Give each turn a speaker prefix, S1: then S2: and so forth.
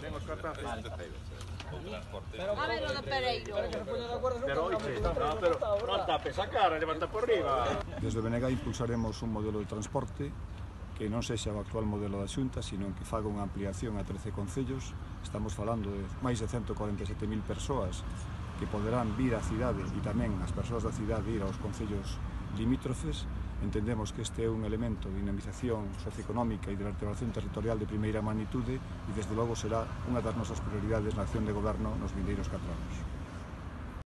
S1: Ten os cartazos.
S2: A ver o do Pereiro.
S1: Pero non tapes a cara, levanta por riba.
S3: Desde o BNG impulsaremos un modelo de transporte que non sexa o actual modelo da Xunta, sino que faga unha ampliación a 13 concellos. Estamos falando de máis de 147.000 persoas que poderán vir á cidade e tamén as persoas da cidade ir aos concellos limítrofes. Entendemos que este é un elemento de dinamización socioeconómica e de vertebración territorial de primeira magnitude e desde logo será unha das nosas prioridades na acción de goberno nos vindeiros 4 anos.